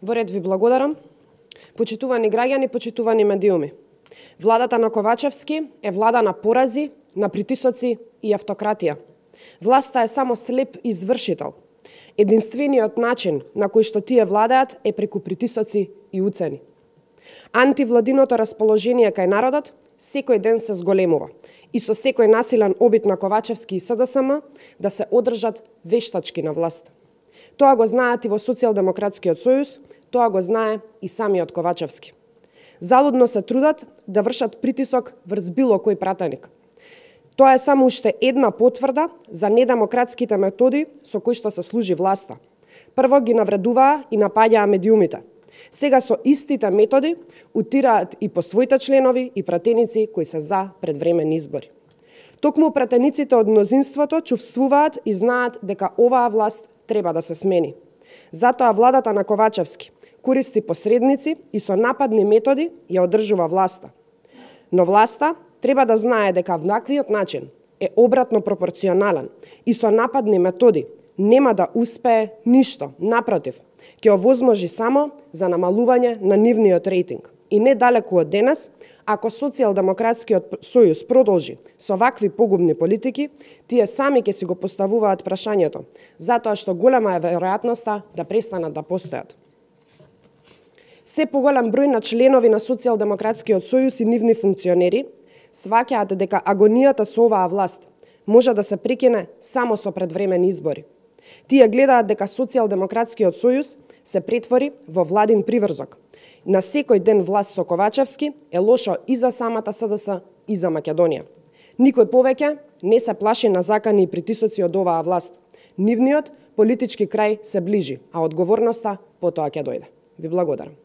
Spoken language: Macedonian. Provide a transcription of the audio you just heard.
Во ред ви благодарам. Почитувани граѓани, почитувани медиуми. Владата на Ковачевски е влада на порази, на притисоци и автократија. Власта е само слеп извршител. Единствениот начин на кој што тие владаат е преку притисоци и уцени. Антивладиното расположение кај народот секој ден се зголемува и со секој насилен обид на Ковачевски и СДСМ да се одржат вештачки на власт. Тоа го знаат и во Социјалдемократскиот сојуз, тоа го знае и самиот Ковачевски. Залудно се трудат да вршат притисок врз било кој пратеник. Тоа е само уште една потврда за недемократските методи со кои што се служи власта. Прво ги навредуваа и напаѓаа медиумите. Сега со истите методи утираат и по своите членови и пратеници кои се за предвременни избори. Токму пратениците од мнозинството чувствуваат и знаат дека оваа власт треба да се смени. Затоа владата на Ковачевски користи посредници и со нападни методи ја одржува власта. Но власта треба да знае дека ваквиот начин е обратно пропорционален и со нападни методи нема да успее ништо, напротив, ќе овозможи само за намалување на нивниот рейтинг. И недалеку од денес, ако Социјалдемократскиот сојуз продолжи со вакви погубни политики, тие сами ќе си го поставуваат прашањето, затоа што голема е веројатноста да престанат да постојат. Се поголем број на членови на Социјалдемократскиот сојуз и нивни функционери сваќаат дека агонијата со оваа власт може да се прекине само со предвременни избори. Тие гледаат дека Социјалдемократскиот сојуз се претвори во владин приврзок. На секој ден власт со Ковачевски е лошо и за самата СДС и за Македонија. Никој повеќе не се плаши на закани и притисоци од оваа власт. Нивниот политички крај се ближи, а одговорноста потоа ќе дојде. Ви благодарам.